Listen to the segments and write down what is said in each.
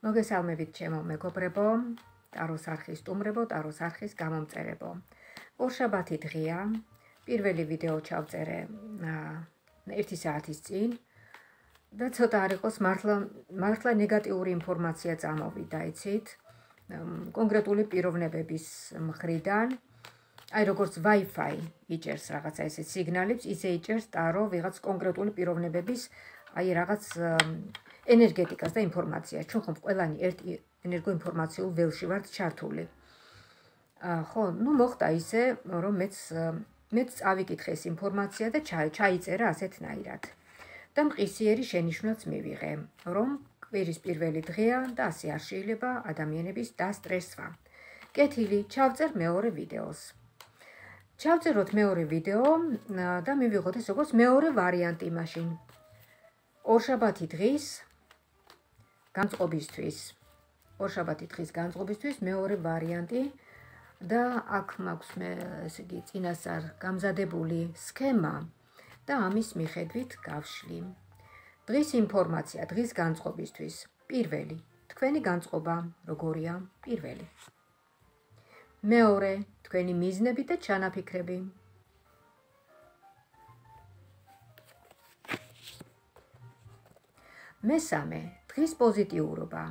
მოგესალმებით ჩემო მეგობრებო, ტაროს არხის სტუმრებო, ტაროს არხის გამომწერებო. ორშაბათი დღეა, პირველი ვიდეო ჩავწერე 1 საათის წინ და ცოტა არ იყოს მართლა ნეგატიური ინფორმაცია წამოვიდა, იცით? კონკრეტული პიროვნებების მხრიდან, აი როგორც Wi-Fi იჭერს რაღაცა ესე სიგნალებს, ისე იჭერს ტარო ვიღაც კონკრეტული პიროვნებების აი რაღაც ენერგეტიკას და ინფორმაციას. ჩვენ ხომ ყველანი ერთ ენერგოინფორმაციულ ველში ვართ ჩართული. ხო, ნუ მოხდა ისე, რომ მეც წავიკითხე ეს ინფორმაცია და ჩაიწერა ასეთნაირად. და მყისიერი შენიშვნაც მივიღე, რომ კვირის პირველი დღეა და ასე არ შეიძლება ადამიანების დასტრესვა. კეთილი, ჩავწერ მეორე ვიდეოს. ჩავწეროთ მეორე ვიდეო და მივიღოთ ეს როგორც მეორე ვარიანტი მაშინ. ორშაბათი დღის განწყობისთვის მეორე ვარიანტი და აქ მაქვს მე ესე იგი წინასწარ გამზადებული სქემა და ამის მიხედვით გავშლი. დღის ინფორმაცია, დღის განწყობისთვის. პირველი, თქვენი განწყობა როგორია? პირველი. მეორე, თქვენი მიზნები და ჩანაფიქრები. მესამე, დღის პოზიტიურობა.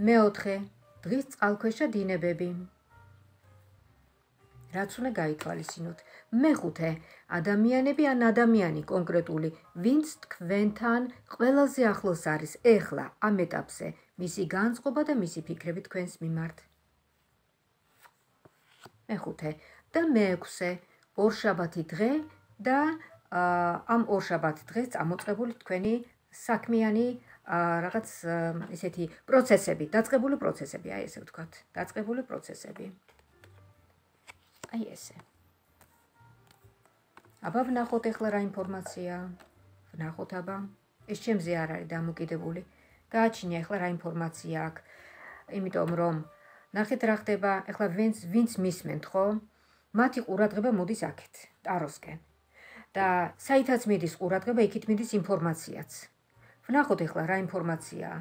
მეოთხე, დღის წყალქვეშა დინებები. რაც უნდა გაითვალისწინოთ. მეხუთე, ადამიანები ან ადამიანი კონკრეტული, ვინც თქვენთან ყველაზე ახლოს არის ეხლა ამ ეტაპზე, მისი განწყობა და მისი ფიქრები თქვენს მიმართ. მეხუთე და მეექვსე, ორშაბათი დღე და ამ ორშაბათ დღეს წამოწყებული თქვენი საქმიანი რაღაც ესეთი პროცესები, დაწყებული პროცესები, აი ესე ვთქვათ, დაწყებული პროცესები. აი ესე. აბა ვნახოთ ახლა რა ინფორმაცია. ვნახოთ აბა. ეს ჩემზე არ არის დამოკიდებული. გააჩინე ახლა რა ინფორმაცია აქვს. იმიტომ რომ ნახეთ რა ხდება, ახლა ვინც მისმენთ, ხო? მათი ყურადღება მოდის აქეთ, ტაროსკენ. და საითაც მიდის ყურადღება, იქით მიდის ინფორმაციაც. ვნახოთ ახლა რა ინფორმაციაა.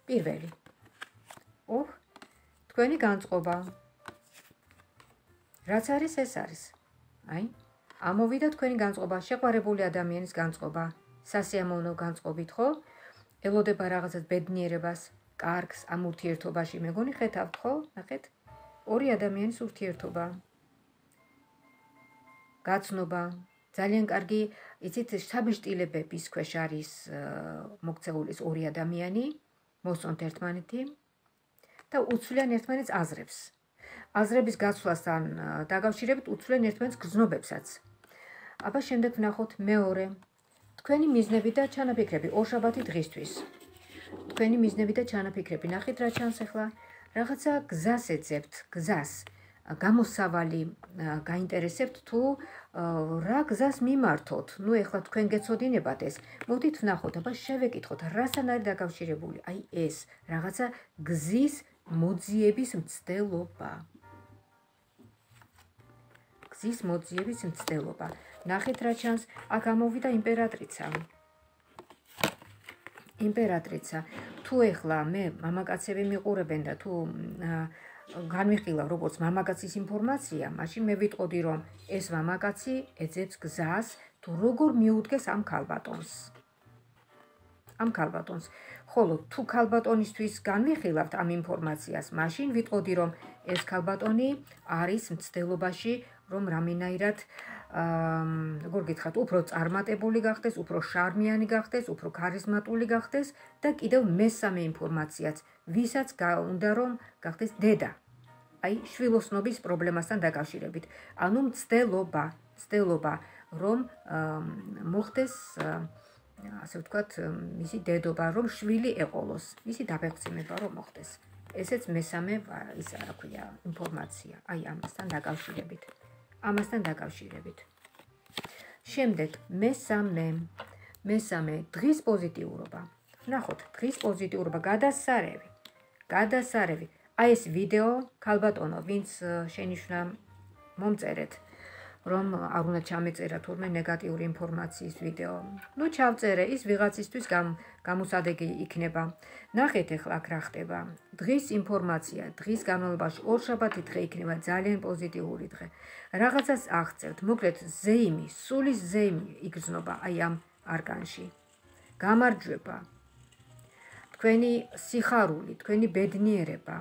პირველი. თქვენი განწყობა. რაც არის, ეს არის. აი, ამოვიდა თქვენი განწყობა, შეყვარებული ადამიანის განწყობა, სასიამოვნო განწყობით, ხო? ელოდება რაღაცას ბედნიერებას, კარგს ამ ურთიერთობაში, მეგონი ხედავთ, ხო? ნახეთ. ორი ადამიანის ურთიერთობა. გაცნობა. ძალიან კარგი, იცით, საბეჭდილებების ქვეშ არის მოქცეული ორი ადამიანი, მოსწონთ ერთმანეთი და უცვლიან ერთმანეთს აზრებს. აზრების გაცვლასთან დაკავშირებით უცვლიან ერთმანეთს გრძნობებსაც. აბა შემდეგ ვნახოთ მეორე. თქვენი მიზნები და ჩანაფიქრები ორშაბათი დღისთვის. თქვენი მიზნები და ჩანაფიქრები. ნახეთ რა ჩანს ახლა. რაღაცა გზას ეძებთ, გზას. გამოსავალი გაინტერესებთ თუ რა გზას მიმართოთ. ნუ ეხლა თქვენ გეცოდინებათ ეს. მოდით ვნახოთ, აბა შევეკითხოთ, რასთან არის დაკავშირებული. აი ეს რაღაცა გზის მოძიების მცდელობა. გზის მოძიების მცდელობა. ნახეთ რა ჩანს, აქ ამოვიდა იმპერატრიცა. იმპერატრიცა. თუ ეხლა მე მამაკაცები მიყურებენ და თუ განვიხილავ როგორც მამაკაცის ინფორმაცია, მაშინ მე ვიტყოდი რომ ეს მამაკაცი ეძებს გზას თუ როგორ მიუდგეს ამ ქალბატონს. ხოლო თუ ქალბატონისთვის განვიხილავთ ამ ინფორმაციას, მაშინ ვიტყოდი რომ ეს ქალბატონი არის მცდელობაში, რომ რამენაირად როგორ გითხრათ, უფრო წარმატებული გახდეს, უფრო შარმიანი გახდეს, უფრო ქარიზმატული გახდეს და კიდევ მესამე ინფორმაციაც, ვისაც უნდა რომ გახდეს დედა. აი, შვილოსნობის პრობლემასთან დაკავშირებით. ანუ მცდელობა, რომ მოხდეს, ასე ვთქვათ, მისი დედობა, რომ შვილი ეყოლოს, მისი დაბეღწინება რომ მოხდეს. ესეც მესამე ისა რა ქვია, ინფორმაცია, აი ამასთან დაკავშირებით. შემდეგ მესამე დღის პოზიტიურობა. ვნახოთ, დღის პოზიტიურობა, გადასარევი. აი ეს ვიდეო, ქალბატონო, ვინც შენიშვნა მომწერეთ, რომ არ უნდა ჩამეწერა თურმე ნეგატიური ინფორმაციის ვიდეო. ნუ ჩავწერე, ის ვიღაცისთვის გამოსადეგი იქნება. ნახეთ ახლა აქ რა ხდება. დღის ინფორმაცია, დღის განმავლობაში ორშაბათი დღე იქნება ძალიან პოზიტიური დღე. რაღაცას აღწევთ, მოკლედ ზეიმი, სულის ზეიმი იგრძნობა აი ამ არკანში. გამარჯვება. თქვენი სიხარული, თქვენი ბედნიერება.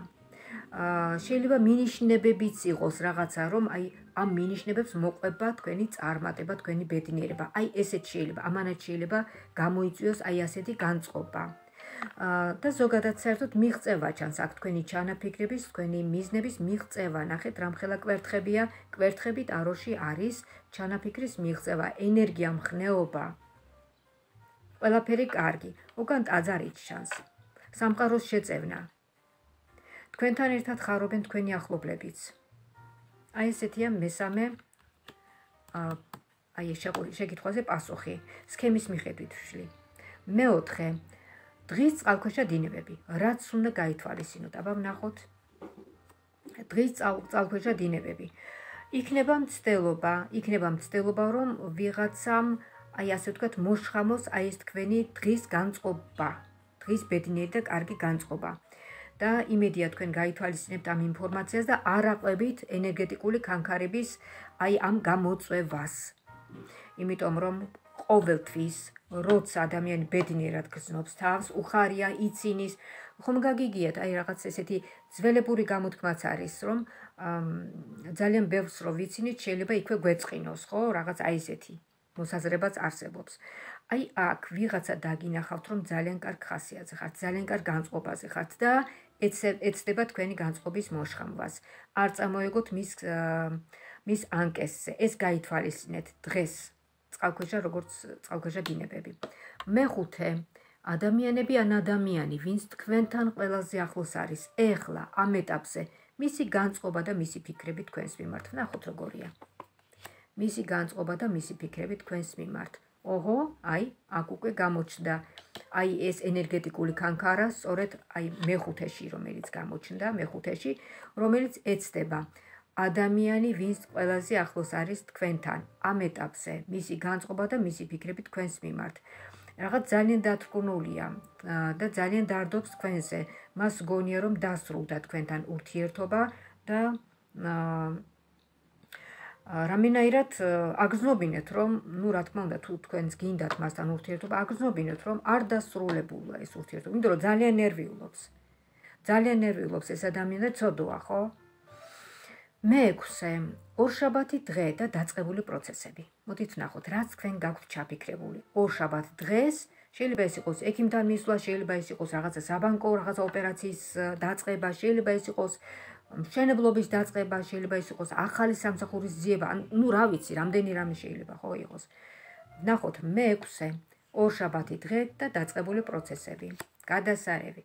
შეიძლება მინიშნებებიც იყოს რაღაცა, რომ აი ამ მინიშნებებს მოყვება თქვენი წარმატება, თქვენი ბედნიერება. აი ესეც შეიძლება, ამანაც შეიძლება გამოიწვიოს აი ასეთი განწყობა. და ზოგადად საერთოდ მიღწევა ჩანს აქ თქვენი ჩანაფიქრების, თქვენი მიზნების მიღწევა. ნახეთ, რამხელა კვერთხებია, კვერთხები ტაროში არის ჩანაფიქრის მიღწევა, ენერგია, მხნეობა. ყველაფერი კარგი. უკან ტაძარიც ჩანს. სამყაროს შეწევნა. თქვენთან ერთად ხარობენ თქვენი ახლობლებიც. აი ესეთია მესამე აი ეს შეკითხვაზე პასუხი. სქემის მიხედვით ვშლი. მეოთხე დღის წყალქვეშა დინებები. რაც უნდა გაითვალისწინოთ. აბა ვნახოთ. დღის წყალქვეშა დინებები. იქნება მცდელობა, რომ ვიღაცამ აი ასე ვთქვათ მოშხამოს აი ეს თქვენი დღის განწყობა. დღის ბედნიერი და კარგი განწყობა. და იმედია თქვენ გაითვალისწინებთ ამ ინფორმაციას და არ აყვებით ენერგეტიკული კანკარების აი ამ გამოწვევას. იმიტომ რომ ყოველთვის როცა ადამიანი ბედნიერად გრძნობს თავს, უხარია, ცინის, ხომ გაგიგიათ აი რაღაც ესეთი ძველებური გამოთქმაც არის, რომ ძალიან ბევრს რო ვიცინით, შეიძლება იქვე გვეწყინოს, ხო? რაღაც აი ესეთი მოსაზრებაც არსებობს. აი აქ ვიღაცა დაგინახავთ, რომ ძალიან კარგ ხასიათზე ხართ, ძალიან კარგ განწყობაზე ხართ და ეცდება თქვენი განწყობის მოშხამვას. არ წამოეგოთ მის ანკესზე. ეს გაითვალისწინეთ დღეს. წყალქვეშა როგორც წყალქვეშა დინებები. მეხუთე ადამიანები ან ადამიანი, ვინც თქვენთან ყველაზე ახლოს არის, ეხლა ამ ეტაპზე, მისი განწყობა და მისი ფიქრები თქვენს მიმართ. ნახოთ როგორია. მისი განწყობა და მისი ფიქრები თქვენს მიმართ. ოჰო, აი, აქ უკვე გამოჩნდა აი ეს ენერგეტიკული კანკარა, სწორედ აი მეხუთეში, რომელიც გამოჩნდა, მეხუთეში, რომელიც ეცდება ადამიანი, ვინც ყველაზე ახლოს არის თქვენთან, ამ ეტაპზე, მისი განწყობა და მისი ფიქრები თქვენს მიმართ. რაღაც ძალიან დათრგუნულია და ძალიან დარდობს თქვენზე. მას გონია, რომ დასრულდა თქვენთან ურთიერთობა და რამენაირად აგრძნობინეთ, რომ, ნუ რა თქმა უნდა, თუ თქვენს გინდათ მასთან ურთიერთობა, აგრძნობინეთ, რომ არ დასრულებულა ეს ურთიერთობა, იმიტომ რომ ძალიან ნერვიულობს. ძალიან ნერვიულობს ეს ადამიანი და ცოდოა, ხო? მეექვსე, ორშაბათი დღე და დაწყებული პროცესები. მოდით ვნახოთ, რაც თქვენ გაქვთ ჩაფიქრებული. ორშაბათ დღეს შეიძლება ეს იყოს ექიმთან მისვლა, შეიძლება ეს იყოს რაღაცა საბანკო, რაღაცა ოპერაციის დაწყება, შეიძლება ეს იყოს მშენებლობის დაწყება, შეიძლება ის იყოს ახალი სამსახურის ძიება, ნუ რა ვიცი, რამდენი რამე შეიძლება ხო იყოს. ვნახოთ მეექვსე, ორშაბათი დღე და დაწყებული პროცესები. გადასარევი.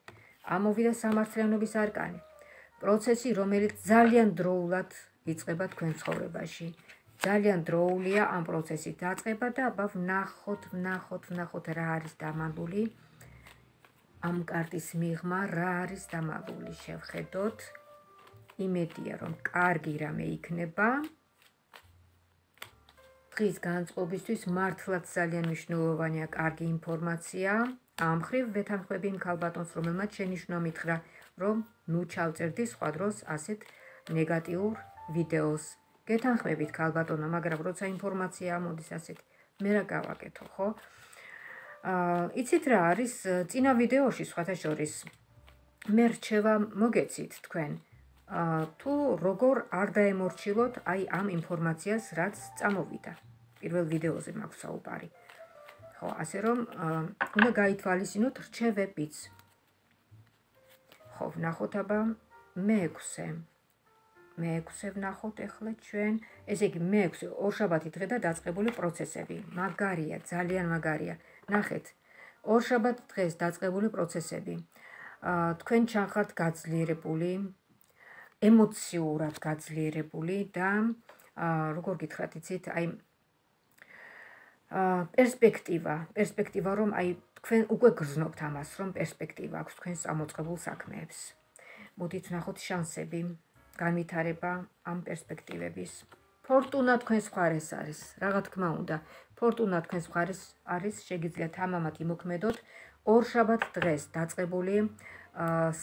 ამოვიდა სამართლიანობის არკანი. პროცესი, რომელიც ძალიან დროულად იწყება თქვენ ცხოვრებაში. ძალიან დროულია ამ პროცესის დაწყება და აბა ვნახოთ რა არის დამალული. ამ კარტის მიღმა რა არის დამალული, შევხედოთ. იმედია, რომ კარგი რამე იქნება. დღის განწყობისთვის მართლაც ძალიან მნიშვნელოვანია კარგი ინფორმაცია. ამ მხრივ ვეთანხმები იმ ქალბატონს, რომელმაც შენიშვნა მითხრა, რომ ნუ ჩავწერდი სხვა დროს ასეთ ნეგატიურ ვიდეოს. გეთანხმებით ქალბატონო, მაგრამ როცა ინფორმაცია ამოდის ასეთ, მე რა გავაკეთო, ხო? იცით რა არის წინა ვიდეოში სხვათა შორის მე რჩევა მოგეცით თქვენ. თუ როგორ არ დაემორჩილოთ აი ამ ინფორმაციას, რაც წამოვიდა. პირველ ვიდეოზე მაქვს საუბარი. ხო, ასე რომ უნდა გაითვალისწინოთ რჩევებიც. ხო, ვნახოთ აბა მეექვსე. მეექვსე ვნახოთ ახლა ჩვენ, ესე იგი მეექვსე ორშაბათი დღე და დაწყებული პროცესები. მაგარია, ძალიან მაგარია. ნახეთ, ორშაბათ დღეს დაწყებული პროცესები. თქვენ ჩახართ გაძლიერებული, ემოციურად გაძლიერებული და როგორ გითხრათ, იცით, აი პერსპექტივა, რომ აი თქვენ უკვე გრძნობთ ამას, რომ პერსპექტივა აქვს თქვენს წამოწყებულ საქმეებს. მოდით ვნახოთ შანსები, განვითარება ამ პერსპექტივების, ფორტუნა თქვენს მხარეს არის, რა თქმა უნდა. ფორტუნა თქვენს მხარეს არის, შეგიძლიათ ამამად იმოქმედოთ. ორშაბათ დღეს დაწყებული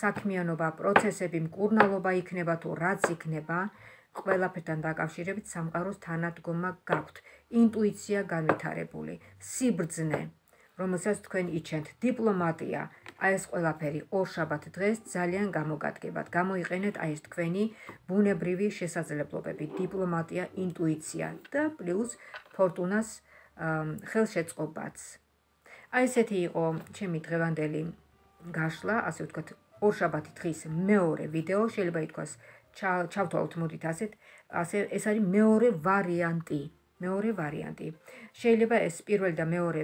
საქმიანობა, პროცესები, მკურნალობა იქნება თუ რაც იქნება, ყველაფერთან დაკავშირებით სამყაროს თანადგომა გაქვთ. ინტუიცია განვითარებული, სიბრძნე, რომელსაც თქვენ იჩენთ, დიპლომატია, აი ეს ყველაფერი ორშაბათ დღეს ძალიან გამოგადგებათ. გამოიყენეთ აი ეს თქვენი ბუნებრივი შესაძლებლობები, დიპლომატია, ინტუიცია და პლუს ფორტუნას ხელშეწყობაც. აი ესეთი იყო ჩემი დღევანდელი გაშლა, ასე ვთქვათ, ორშაბათი დღის მეორე ვიდეო, შეიძლება ითქვას ჩავთვალოთ მოდით ასეთ, ეს არის მეორე ვარიანტი. შეიძლება ეს პირველი და მეორე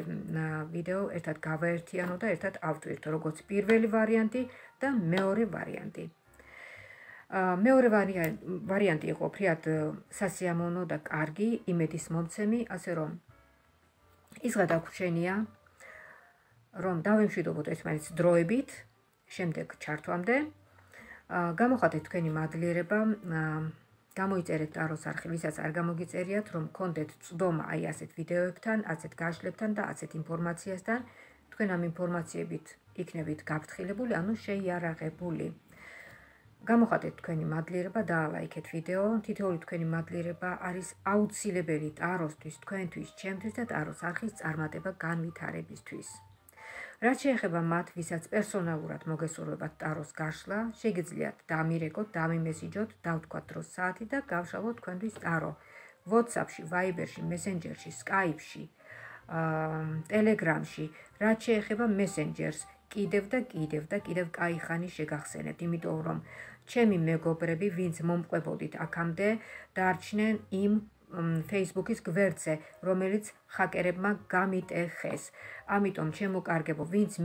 ვიდეო ერთად გავაერთიანო და ერთად ავტვირთო, როგორც პირველი ვარიანტი და მეორე ვარიანტი. მეორე ვარიანტი იყო ფრიად სასიამოვნო და კარგი, იმედის მომცემი, ასე რომ ის გადაგვრჩენია, რომ დავემშვიდობოთ ერთმანეთს დროებით, შემდეგ ჩართვამდე. გამოხატეთ თქვენი მადლიერება, გამოიწერეთ ტაროს არხი, ვისაც არ გამოგიწერიათ, რომ გქონდეთ წვდომა აი ასეთ ვიდეოებთან, ასეთ გაშლებთან და ასეთ ინფორმაციასთან, თქვენ ამ ინფორმაციებით იქნებით გაფრთხილებული, ანუ შეიარაღებული. გამოხატეთ თქვენი მადლიერება, დაალაიქეთ ვიდეო, თითოეული თქვენი მადლიერება არის აუცილებელი ტაროსთვის, თქვენთვის, ჩემთვის და ტაროს არხის წარმატება განვითარებისთვის. რაც შეეხება მათ, ვისაც პერსონალურად მოგესურვებათ ტაროს გაშლა, შეგიძლიათ დამირეკოთ, დამიმესიჯოთ, დავთქვათ დროს საათი და გავშალოთ თქვენთვის ტარო. WhatsApp-ში, Viber-ში, Messenger-ში, Skype-ში, Telegram-ში, რაც შეეხება Messengers, კიდევ კაი ხანი შეგახსენებთ, იმიტომ რომ ჩემი მეგობრები, ვინც მომყვებოდით აქამდე, დარჩნენ იმ Facebook-ის გვერდზე, რომელიც ჰაკერებმა გამიტეხეს. ამიტომ ჩემო კარგებო, ვინც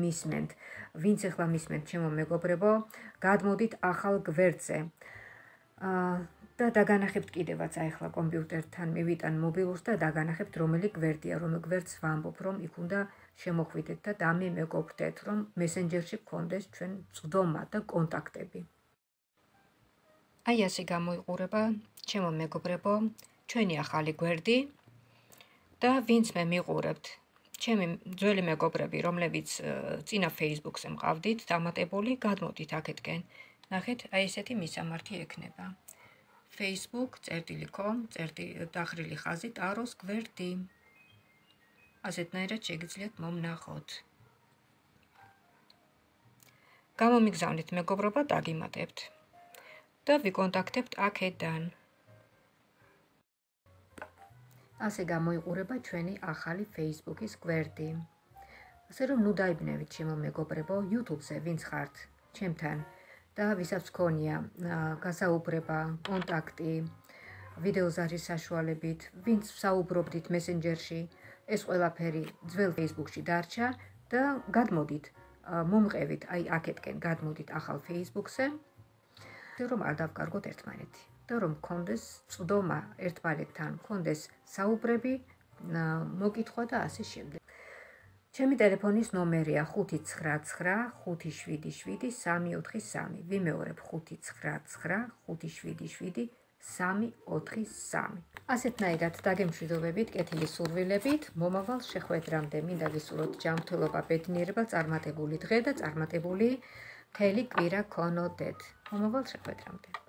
ახლა მისმენთ ჩემო მეგობრებო, გადმოდით ახალ გვერდზე. და დაგანახებთ კიდევაც ახლა კომპიუტერთან მივიტან მობილურს და დაგანახებთ რომელი გვერდია, რომელ გვერდს ვამბობ, რომ იქ უნდა შემოხვიდეთ და დამიმეგობრდეთ, რომ Messenger-ში გქონდეს ჩვენ წვდომა და კონტაქტები. აი ასე გამოიყურება ჩემო მეგობრებო, ჩვენი ახალი გვერდი და ვინც მე მიყურებთ, ჩემი ძველი მეგობრები, რომლებიც წინა Facebook-ზე მყავდით დამატებული, გადმოდით აქეთკენ. ნახეთ, აი ესეთი მისამართი ექნება. facebook.com დახრილი ხაზი ტაროს გვერდი. ასეთნაირად შეგიძლიათ მომნახოთ. გამომიგზავნით მეგობრობა, დაგიმატებთ და ვიკონტაქტებთ აქედან. ასე გამოიყურება ჩვენი ახალი Facebook-ის გვერდი. ასე რომ ნუ დაიბნევით ჩემო მეგობრებო, YouTube-ზე ვინც ხართ ჩემთან და ვისაც გქონია გასაუბრება, კონტაქტი, ვიდეოზარის საშუალებით, ვინც საუბრობდით Messenger-ში, ეს ყველაფერი ძველ Facebook-ში დარჩა და გადმოდით, მომყევით, აი აქეთკენ გადმოდით ახალ Facebook-ზე, რომ არ დავკარგოთ ერთმანეთი. და რომ გქონდეს წვდომა ერთმანეთთან, გქონდეს საუბრები, მოკითხვა და ასე შემდეგ. ჩემი ტელეფონის ნომერია 599577343. ვიმეორებ 599577343. ასეთნაირად დაგემშვიდობებით, კეთილი სურვილებით, მომავალ შეხვედრამდე მინდა გისურვოთ ჯანმრთელობა, ბედნიერება, წარმატებული დღე და წარმატებული მთელი კვირა გქონოდეთ. მომავალ შეხვედრამდე.